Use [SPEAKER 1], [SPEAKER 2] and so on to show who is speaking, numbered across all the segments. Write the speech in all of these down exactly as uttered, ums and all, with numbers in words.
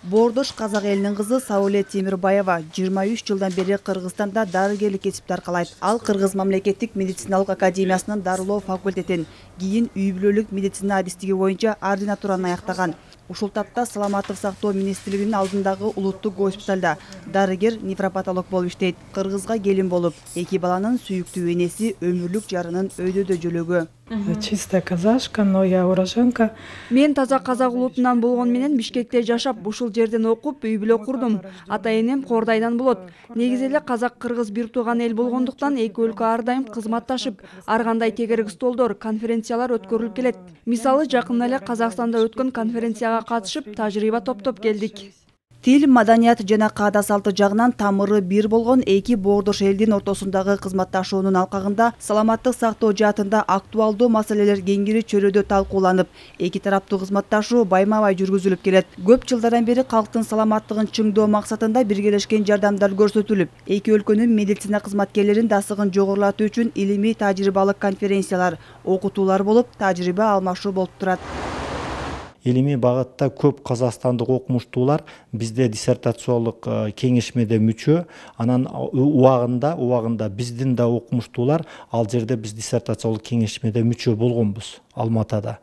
[SPEAKER 1] Боордош казак элинин кызы Сауле Темирбаева жыйырма үч жылдан бери Кыргызстанда дарыгерлик кесипти аркалайт. Ал Кыргыз мамлекеттик медициналык академиясынын дарылоо факультетин, кийин үй бүлөлүк медицина адистиги боюнча ординатураны аяктаган. Ушул тапта Саламаттык сактоо министрлигинин алдындагы улуттук госпиталда дарыгер нефропатолог болуп иштейт. Кыргызга келин болуп, эки баланын сүйүктүү энеси, өмүрлүк жарынын өйдөдө жөлөгү.
[SPEAKER 2] Чистая казашка, но я уроженка.
[SPEAKER 3] Мен таза казак улутунан болгон менен Бишкекте жашап, ушул жерден окуп, үй бүлө курдум. Ата энем Кордайдан болот. Негизи эле казак-кыргыз бир тууган эл болгондуктан эки өлкө ар дайым кызматташып, ар кандай тегерек столдор, конференциялар өткөрүлүп келет. Мисалы, жакында эле Казакстанда өткөн конференцияга катышып, тажрыйба топтоп келдик.
[SPEAKER 1] Тил, маданият жана каада салты жагынан тамыры бир болгон эки боордош элдин ортосундагы кызматташуунун алкагында саламаттык сактоо жаатында актуалдуу маселелер кеңири чөйрөдө талкууланып, эки тараптуу кызматташуу байма-бай жүргүзүлүп келет. Көп жылдардан бери калктын саламаттыгын чыңдоо максатында биргелешкен жардамдар көрсөтүлүп, эки өлкөнүн медицина кызматкерлеринин дасыгын жогорулатуу үчүн илимий тажрыйбалык конференциялар, окутуулар болуп, тажрыйба алмашуу болуп турат.
[SPEAKER 4] Илимий багытта көп казакстандык окумуштуулар бизде диссертациялык кеңешмеде мүчө, анан убагында убагында биздин да окумуштуулар ал жерде биз диссертациялык кеңешмеде мүчө болгонбуз Алматада.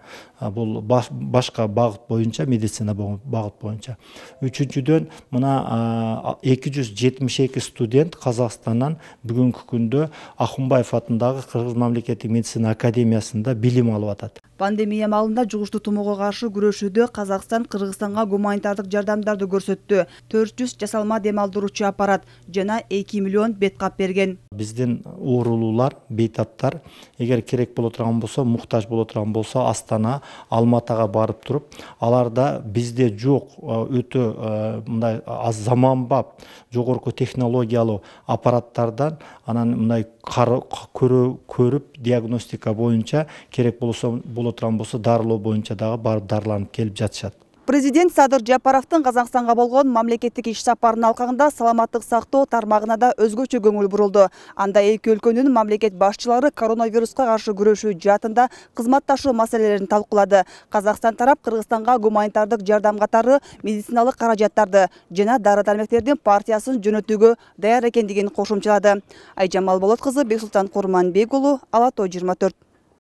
[SPEAKER 4] Бул башка багыт боюнча, медицина багыт боюнча. Үчүнчүдөн, мына эки жүз жетимиш эки студент Казакстандан бүгүнкү күндө Ахунбаев атындагы Кыргыз мамлекеттик медицина академиясында билим алып атат.
[SPEAKER 1] Пандемия маалында жугуштуу тумоого каршы күрөшүүдө Казакстан Кыргызстанга гуманитардык жардамдарды көрсөттү. төрт жүз жасалма дем алдыруучу аппарат жана эки миллион бет кап берген.
[SPEAKER 4] Биздин уурулуулар, бейтаптар эгер керек боло турган болсо, муктаж боло турган болсо, Астана, Алматага барып туруп, аларда бизде жок өтө мындай аз заманбап, жогорку технологиялуу аппараттардан анан мындай көрүп диагностика боюнча керек болсо боло турган болсо дарылоо боюнча дагы барып дарыланып келип жатышат.
[SPEAKER 1] Президент Садыр Жапаровдун Казакстанга болгон мамлекеттик иш сапарынын алкагында саламаттык сактоо тармагына да өзгөчө көңүл бурулду. Анда эки өлкөнүн мамлекет башчылары коронавируска каршы күрөшүү жаатында кызматташуу маселелерин талкуулады. Казакстан тарап Кыргызстанга гуманитардык жардам катары медициналык каражаттарды жана дары-дармектердин партиясын жөнөтүүгө даяр экендигин кошумчалады. Айжамал Болот кызы, Бексултан Курманбек уулу, Ала Тоо жыйырма төрт.